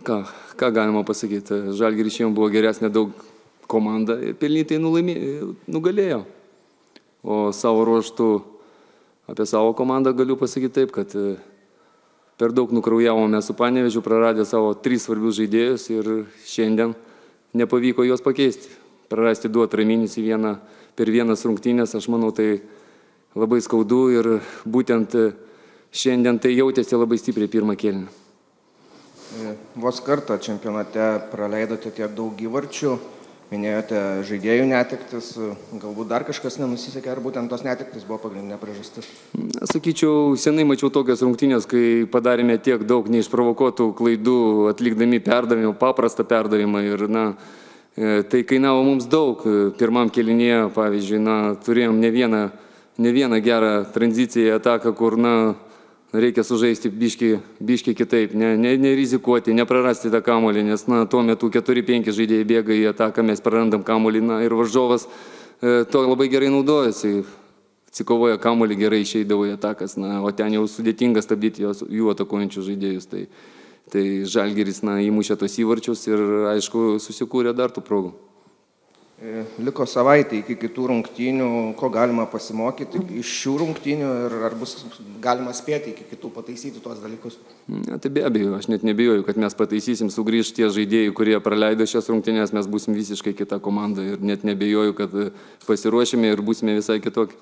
Ką galima pasakyti? Žalgiris šiandien buvo geresnė daug komanda, pelnytai nugalėjo. O savo ruoštų apie savo komandą galiu pasakyti taip, kad per daug nukraujavome su Panevėžiu, praradę savo 3 svarbius žaidėjus ir šiandien nepavyko juos pakeisti. Prarasti 2 atraminis per vienas rungtynės, aš manau, tai labai skaudu ir būtent šiandien tai jautėsi labai stipriai pirmą kėlinį. Vos kartą čempionate praleidote tiek daug įvarčių, minėjote žaidėjų netektis, galbūt dar kažkas nenusisekė, ar būtent tos netektis buvo pagrindinė priežastis? Sakyčiau, senai mačiau tokias rungtynės, kai padarėme tiek daug neišprovokuotų klaidų, atlikdami perdavimą, paprastą perdavimą ir, tai kainavo mums daug. Pirmam kėlinyje, pavyzdžiui, turėjom ne vieną gerą tranziciją ataką, kur, reikia sužaisti biški kitaip, nerizikuoti, neprarasti tą kamuolį, nes tuo metu 4-5 žaidėjai bėga į ataką, mes prarandam kamuolį ir varžovas to labai gerai naudojasi, atsikovoja kamuolį, gerai išeidavo į atakas, o ten jau sudėtinga stabdyti jų atakuojančius žaidėjus. Tai Žalgiris įmušė tos įvarčius ir, aišku, susikūrė dar tų progų. Liko savaitė iki kitų rungtynių, ko galima pasimokyti iš šių rungtynių ir ar bus galima spėti iki kitų pataisyti tuos dalykus? Tai be abejo, aš net nebijoju, kad mes pataisysim, sugrįž tie žaidėjai, kurie praleido šias rungtynės, mes būsim visiškai kita komanda ir net nebijoju, kad pasiruošime ir būsime visai kitokie.